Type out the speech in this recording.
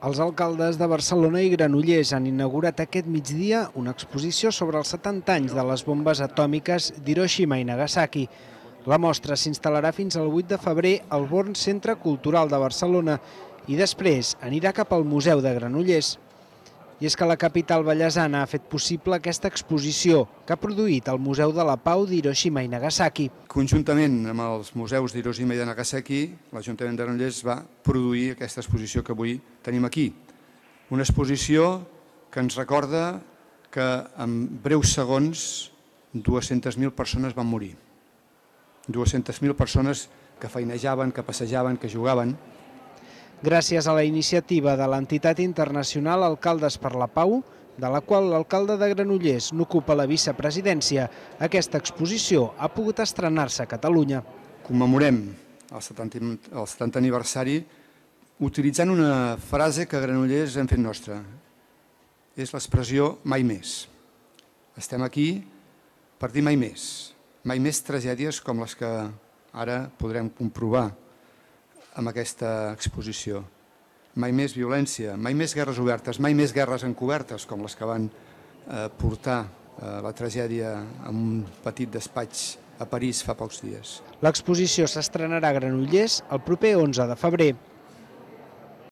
Els alcaldes de Barcelona i Granollers han inaugurat aquest migdia una exposició sobre els 70 anys de les bombes atòmiques d'Hiroshima i Nagasaki. La mostra s'instal·larà fins al 8 de febrer al Born Centre Cultural de Barcelona i després anirà cap al Museu de Granollers. I és que la capital ballesana ha fet possible aquesta exposició que ha produït el Museu de la Pau d'Hiroshima i Nagasaki. Conjuntament amb els museus d'Hiroshima i de Nagasaki, l'Ajuntament de Granollers va produir aquesta exposició que avui tenim aquí. Una exposició que ens recorda que en breus segons 200.000 persones van morir. 200.000 persones que feinejaven, que passejaven, que jugaven. Gràcies a la iniciativa de l'entitat internacional Alcaldes per la Pau, de la qual l'alcalde de Granollers n'ocupa la vicepresidència, aquesta exposició ha pogut estrenar-se a Catalunya. Commemorem el 70 aniversari utilitzant una frase que a Granollers hem fet nostra. És l'expressió mai més. Estem aquí per dir mai més. Mai més tragèdies com les que ara podrem comprovar amb aquesta exposició. Mai més violència, mai més guerres obertes, mai més guerres encobertes com les que van portar la tragèdia en un petit despatx a París fa pocs dies. L'exposició s'estrenarà a Granollers el proper 11 de febrer.